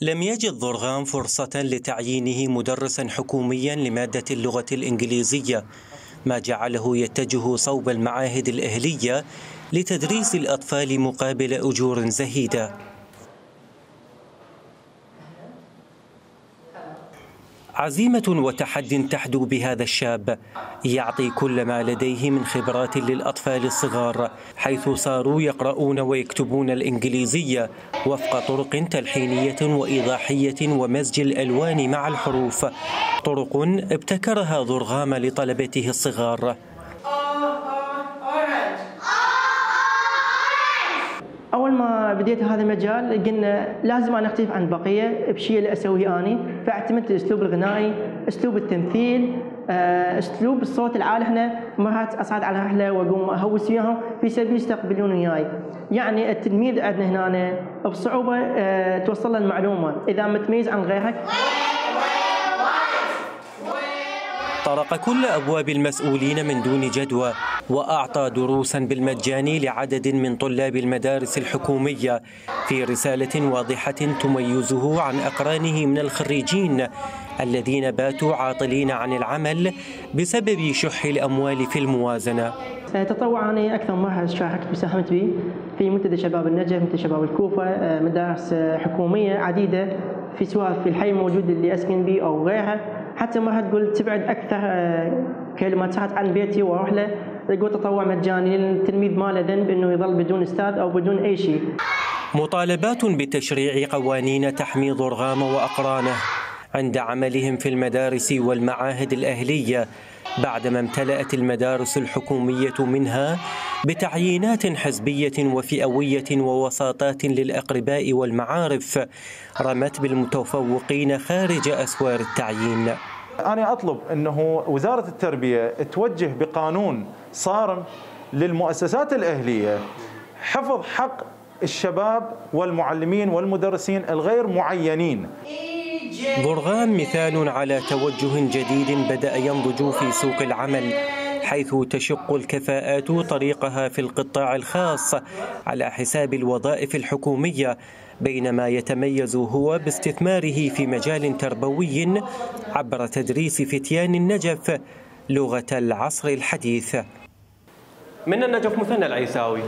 لم يجد ضرغام فرصة لتعيينه مدرسا حكوميا لمادة اللغة الإنجليزية، ما جعله يتجه صوب المعاهد الأهلية لتدريس الأطفال مقابل أجور زهيدة. عزيمة وتحد تحدو بهذا الشاب، يعطي كل ما لديه من خبرات للأطفال الصغار، حيث صاروا يقرؤون ويكتبون الإنجليزية وفق طرق تلحينية وإيضاحية ومزج الألوان مع الحروف، طرق ابتكرها ضرغام لطلبته الصغار. أول ما بديت هذا المجال قلنا لازم أنا أختلف عن البقية بشيء اللي أسويه أنا، فاعتمدت الأسلوب الغنائي، أسلوب التمثيل، أسلوب الصوت العالي. إحنا مرات أصعد على رحلة وأقوم أهوس وياهم في سبيل يستقبلون وياي. يعني التلميذ عندنا هنا بصعوبة توصل له المعلومة إذا متميز عن غيرك. طرق كل أبواب المسؤولين من دون جدوى، وأعطى دروسا بالمجان لعدد من طلاب المدارس الحكومية في رسالة واضحة تميزه عن أقرانه من الخريجين الذين باتوا عاطلين عن العمل بسبب شح الأموال في الموازنة. تطوع أنا أكثر مرة شاركت وساهمت به في منتدى شباب النجف، منتدى شباب الكوفة، مدارس حكومية عديدة في سواء في الحي الموجود اللي أسكن به أو غيرها. حتى مرة تقول تبعد أكثر كيلومترات عن بيتي وأروح له، يقول تطوع مجاني للتلميذ ما له ذنب إنه يظل بدون أستاذ أو بدون أي شيء. مطالبات بتشريع قوانين تحمي ضرغام وأقرانه عند عملهم في المدارس والمعاهد الأهلية، بعدما امتلأت المدارس الحكومية منها بتعيينات حزبية وفئوية ووساطات للأقرباء والمعارف، رمت بالمتفوقين خارج أسوار التعيين. أنا أطلب أنه وزارة التربية توجه بقانون صارم للمؤسسات الأهلية حفظ حق الشباب والمعلمين والمدرسين الغير معينين. ضرغام مثال على توجه جديد بدأ ينضج في سوق العمل، حيث تشق الكفاءات طريقها في القطاع الخاص على حساب الوظائف الحكومية، بينما يتميز هو باستثماره في مجال تربوي عبر تدريس فتيان النجف لغة العصر الحديث. من النجف مثنى العيساوي.